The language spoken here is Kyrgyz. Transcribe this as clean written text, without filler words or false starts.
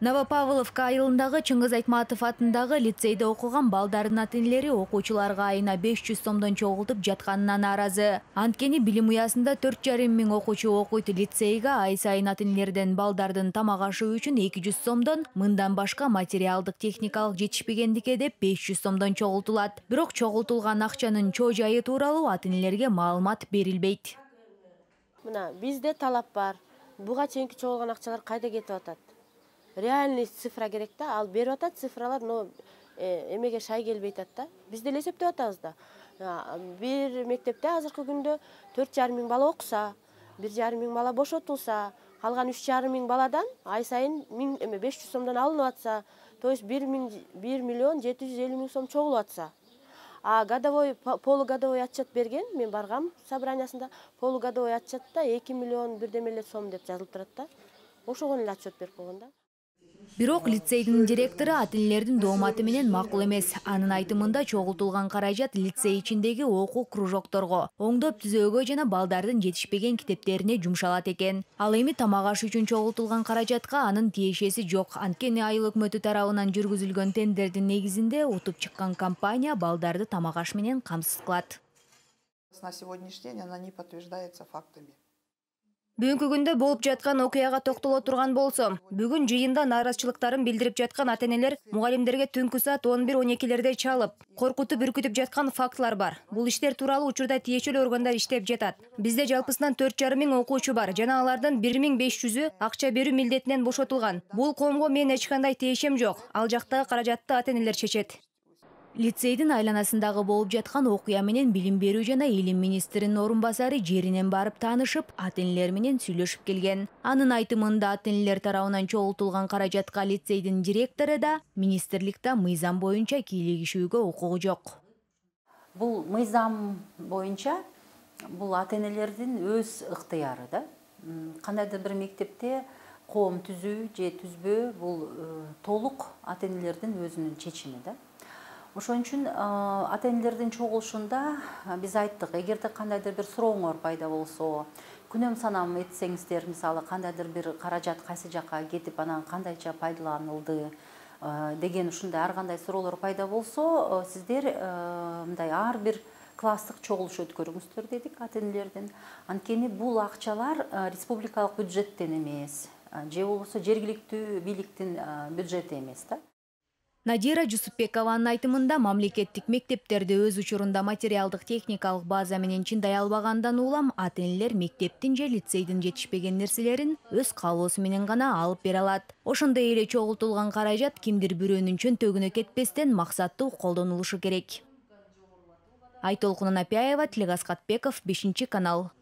Новопавловка айылындагы Чыңгыз Айтматов атындагы лицейде окуган балдардын ата-энелери окуучуларга айына 500 сомдон чогултуп жатканына нааразы. Анткени билим уясында 4,5 миң окуучу окуйт. Лицейге ай сайын ата-энелерден балдардын тамак ашы үчүн 200 сомдон, мындан башка материалдык техникалык жетишпегендикке деп 500 сомдон чогултулат. Бирок чогултулган акчанын чоо жайы тууралуу ата-энелерге маалымат берилбейт. Мына бизде талап бар. Буга чейинки чогулган акчалар кайда кетип атат? Реальный цифра керек да, ал берип атат цифралар, но эмеге шай келбей атат да. Биз деле эсептеп атабыз да. Бир мектепте азыркы күндө 4,5 миң бала окуса, 1,5 миң бала бошотулса, калган 3,5 миң баладан ай сайын 500 сомдон алынып атса, то есть 1 миллион 750 миң сом чогулуп атса. А годовой, полугодовой отчет берген, мен баргам собраниясында, полугодовой отчетта 2 миллион бирдемеле сом деп жазылып турат да. Ошого эле отчет берип койгон да. Бирок лицейдин директору ата-энелердин дооматы менен макул эмес. Анын айтымында чогултулган каражат лицей ичиндеги окуу кружокторго, оңдоп түзөөгө жана балдардын жетишпеген китептерине жумшалат экен. Ал эми тамак аш үчүн чогултулган каражатка анын тиешеси жок. Анткени айыл өкмөтү тарабынан жүргүзүлгөн тендердин негизинде утуп чыккан компания балдарды тамак аш менен камсыз кылат. На сегодняшний день она не подтверждается фактами. Бүгүнкү күндө болуп жаткан окуяга токтоло турган болсом, бүгүн жыйында нааразычылыктарын билдирип жаткан ата-энелер мугалимдерге түнкү саат 11-12 чалып, коркутуп үркүтүп жаткан фактылар бар. Бул иштер тууралуу учурда тиешелүү органдар иштеп жатат. Бизде жалпысынан 4,5 миң окуучу бар жана алардын 1500-ü акча берүү милдетинен бошотулган. Бул коомго мен эч кандай тиешем жок. Ал жактагы каражатты ата-энелер чечет. Лицейдин айланасындагы болуп жаткан окуя менен билим берүү жана илим министринин орун басары жеринен барып таанышып, ата-энелер менен сүйлөшүп келген. Анын айтымында ата-энелер тарабынан чогултулган каражатка лицейдин директору да, министрликте мыйзам боюнча кийлигишүүгө укугу жок. Бул мыйзам боюнча бул ата-энелердин өз ыктыяры да. Кандайдыр бир мектепте коом түзүү же түзбөө бул толук ата-энелердин өзүнүн чечими да. Ошон үчүн ата-энелердин чогулушунда биз айттык, эгерде кандайдыр бир сурооңор пайда болсо, күнөм санам этсеңиздер, мисалы кандайдыр бир каражат кайсы жакка кетип, анан кандайча пайдаланылды деген ушундай ар кандай суроолор пайда болсо, сиздер мындай ар бир класстык чогулуш өткөрүңүздөр дедик ата-энелердин. Анткени бул акчалар республикалык бюджеттен эмес, же болбосо жергиликтүү бийликтин бюджети эмес да. Надира Жусупбекованын айтымында мамлекеттик мектептерде өз учурунда материалдык техникалык база менен чындай албагандан улам ата-энелер мектептин же лицейдин жетишпеген нерселерин өз каалоосу менен гана алып бере алат. Ошондой эле чогултулган каражат кимдир бирөөнүн чөнтөгүнө кетпестен максаттуу колдонулушу керек. Айтолкун Анапяева, Тилек Аскатбеков, 5 канал.